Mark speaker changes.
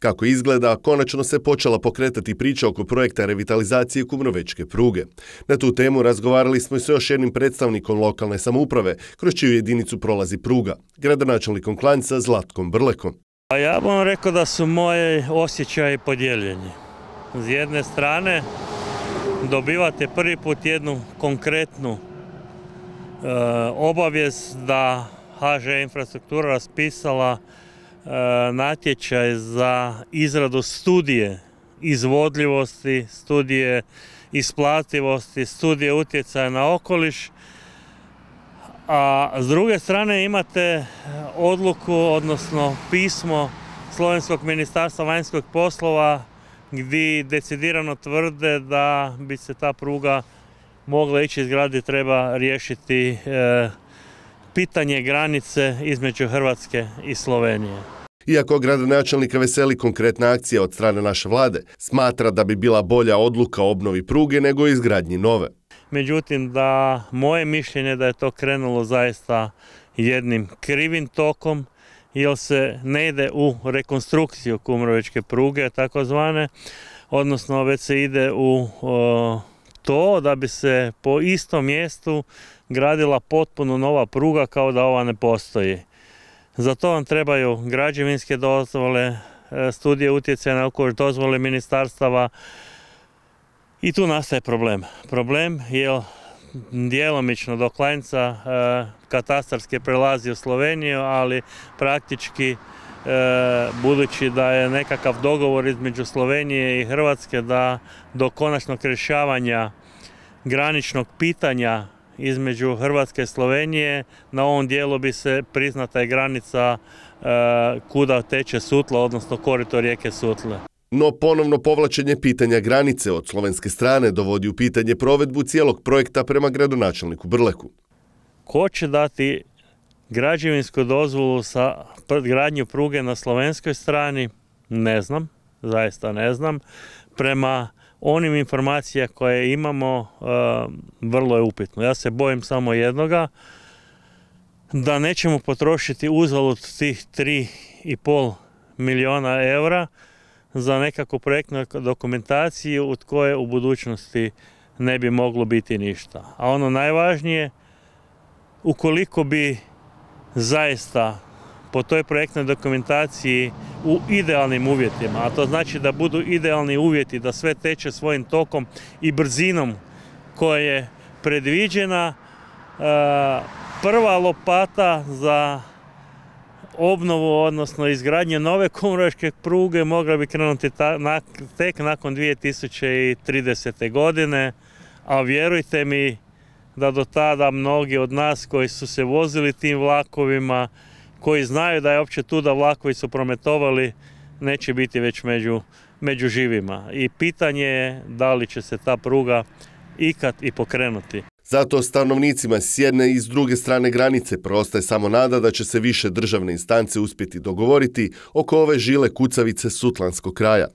Speaker 1: Kako izgleda, konačno se počela pokretati priča oko projekta revitalizacije kumrovečke pruge. Na tu temu razgovarali smo i s još jednim predstavnikom lokalne samouprave, kroz čiju jedinicu prolazi pruga, gradonačelnikom Klanjca Zlatkom Brlekom.
Speaker 2: Ja bih vam rekao da su moji osjećaji podijeljeni. S jedne strane dobivate prvi put jednu konkretnu obavijest da HŽ Infrastruktura raspisala natječaj za izradu studije izvodljivosti, studije isplativosti, studije utjecaja na okoliš, a s druge strane imate odluku, odnosno pismo Slovenskog ministarstva vanjskih poslova gdje decidirano tvrde da bi se ta pruga mogla ići izgraditi, treba riješiti pitanje granice između Hrvatske i Slovenije.
Speaker 1: Iako gradonačelnika veseli konkretna akcija od strane naše vlade, smatra da bi bila bolja odluka o obnovi pruge nego izgradnji nove.
Speaker 2: Međutim, da moje mišljenje da je to krenulo zaista jednim krivim tokom, jer se ne ide u rekonstrukciju kumrovečke pruge, takozvane, odnosno već se ide u to da bi se po istom mjestu gradila potpuno nova pruga kao da ova ne postoji. Za to vam trebaju građevinske dozvole, studije utjecaja na okoliš, dozvole ministarstava i tu nastaje problem. Problem je djelomično do Klanjca katastarski prelazi u Sloveniju, ali praktički budući da je nekakav dogovor između Slovenije i Hrvatske da do konačnog rješavanja graničnog pitanja između Hrvatske i Slovenije, na ovom dijelu bi se priznata je granica kuda teče Sutla, odnosno korito rijeke Sutle.
Speaker 1: No ponovno povlačenje pitanja granice od slovenske strane dovodi u pitanje provedbu cijelog projekta prema gradonačelniku Brleku.
Speaker 2: Ko će dati građevinsku dozvolu za gradnju pruge na slovenskoj strani? Ne znam, zaista ne znam. Prema onim informacija koje imamo, vrlo je upitno. Ja se bojim samo jednoga, da nećemo potrošiti uzalud tih 3,5 milijuna eura za nekakvu projektnu dokumentaciju od koje u budućnosti ne bi moglo biti ništa. A ono najvažnije, ukoliko bi zaista po toj projektnoj dokumentaciji u idealnim uvjetima, a to znači da budu idealni uvjeti, da sve teče svojim tokom i brzinom koja je predviđena, prva lopata za obnovu, odnosno izgradnje nove kumrovečke pruge mogla bi krenuti tek nakon 2030. godine, a vjerujte mi da do tada mnogi od nas koji su se vozili tim vlakovima, koji znaju da je uopće tu da vlakovi su prometovali, neće biti već među živima. I pitanje je da li će se ta pruga ikad i pokrenuti.
Speaker 1: Zato stanovnicima s jedne i s druge strane granice preostaje samo nada da će se više državne instance uspjeti dogovoriti oko ove žile kucavice sutlanskog kraja.